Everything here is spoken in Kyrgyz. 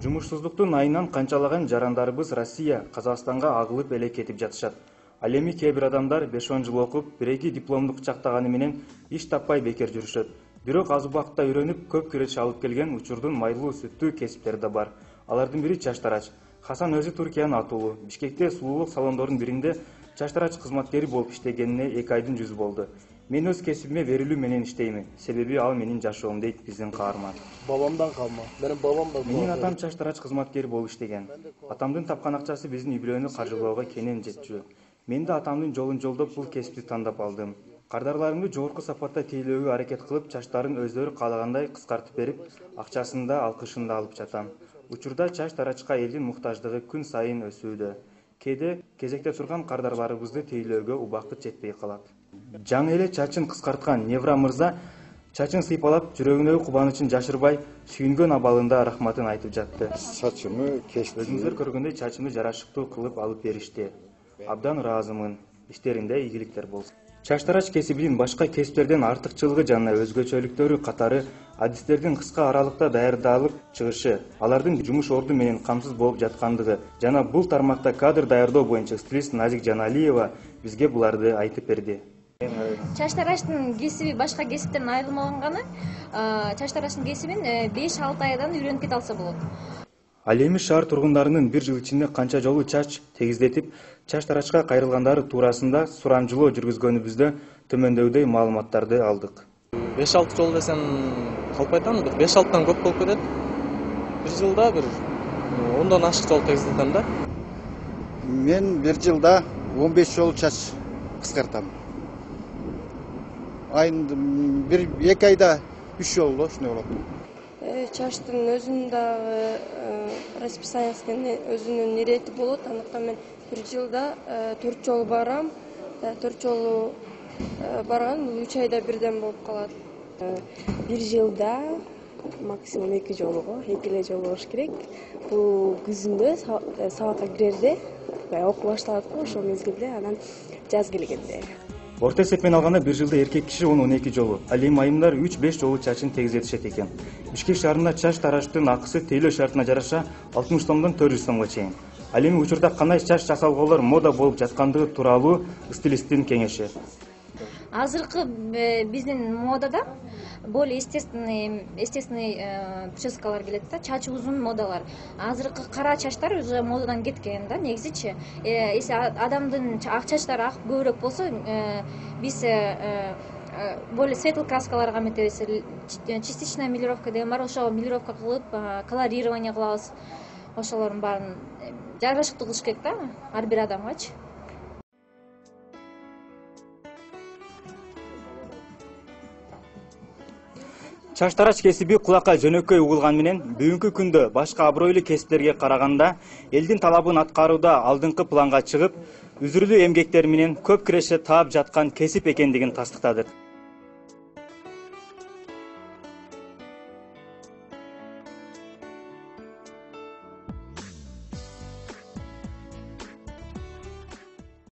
Жумушсуздуктун айынан канчалаган жарандарыбыз Россия, Казакстанга агылып эле кетип жатышат. Ал эми кээ бир адамдар 5-10 жыл окуп, 1-2 дипломду кычактаганы менен иш таппай бекер жүрүшөт. Бирок аз убакытта үйрөнүп, көп киреше алып келген учурдун майлуу сүттүү кесиптери да бар. Алардын бири чачтарач. Хасан өзү Туркиянын атуулу. Бишкекте сулуулук салондорунун биринде чачтарач кызматкери болуп иштегенине 2 айдын жүзү болду. Мен өз кесибиме берилүү менен иштеймин. Себеби ал менин жашоом, дейт биздин каарман. Бабамдан калма. Менин бабам да. Менин атам чачтарач кызматкери болуп иштеген. Атамдын тапкан акчасы биздин үй бүлөнү каржылоого кенен жетчү. Мен да атамдын жолун жолдоп бул кесипти тандап алдым. Кардарларымды жогорку сапатта тейлөөгө аракет кылып, чачтарын өздөрү каалагандай кыскартып берип, акчасын да, алкышын да алып жатам. Учурда чач тарачка элдин муктаждыгы күн сайын өсүүдө. Кээде кезекте турган кардарларыбызды тейлөөгө убакыт жетпей калат. Жаңы эле чачын кыскарткан Невра мырза чачын сыйпалап, жүрөгүнөгү кубанычын жашырбай, сүйүнгөн абалында рахматын айтып жатты. Чачымы кечти. Өзүңүздөр көргөндөй чачымды жарашыктуу кылып алып беришти. Абдан ыраазымын. Иштеринде ийгиликтер болсун. Чачтарач кесибинин башка кесиптерден артыкчылыгы жана өзгөчөлүктөрү катары адистердин кыска аралыкта даярдалып чыгышы, алардын жумуш орду менен камсыз болуп жаткандыгы жана бул тармакта кадр даярдоо боюнча стилист Назик Жаналиева бизге буларды айтып берди. Чачтарачтын кесиби башка кесиптерден айырмаланганы, чачтарачтын кесибин 5-6 айдан үйрөнүп кете алса болот. Ал эми шаар тургундарынын бир жыл ичинде канча жолу чач тегиздетип, чач тарачка кайрылгандары туурасында сурамжылоо жүргүзгөнүбүздө төмөндөйдөй маалыматтарды алдык. 5-6 жол десем калп айтам, 5-6тан көп болуп кетет. Bir жылда bir 10дан ашык жол тегиздетем да. Мен bir жылда 15 жол чач кыскартам. Айында 1-2 айда 3 жол ошондой болот. Чачтын өзүнүн дагы расписаниясы өзүнүн ирети болот. Андыктан мен bir жылда 4 жолу барам. 4 жолу барган 3 айда бирден болуп калат. Bir жылда максимум 2 жолу, 2 эле жол болуш керек. Бул күзүндө сабакка кирерде, окуу башталат го, ошол мезгилде, анан жаз келгенде. Орто эсепмен алганда bir жылда эркек киши 10-12 жолу, ал эми айымдар 3-5 жолу чачын тегиздетишет экен. Бишкек шаарында чач тарачтын акысы тейлөө шартына жараша 60 сомдон 400 сомго чейин. Ал эми учурда кандай чач жасалголор мода болуп жаткандыгы тууралуу стилисттин кеңеши. Азыркы биздин модада более естественный прическалар келет да, чачы узун модалар. Азыркы кара чачтар уже модадан кеткен да, негизичи. Эси адамдын ак чачтары ак көбүрөөк болсо, биз более светлый краскаларга метебиз. Частичная мелировка деген бар, ошо мелировка кылып, колорирование кылабыз. Ошолордун баарын жарашыктуу кылыш керек да, ар бир адамгачы. Чачтарач кесиби кулакка жөнөкөй угулган менен бүгүнкү күндө башка абройлуу кесиптерге караганда элдин талабын аткарууда алдыңкы планга чыгып, үзүрүлүү эмгектери менен көп киреше таап жаткан кесип экендигин тастыктадык.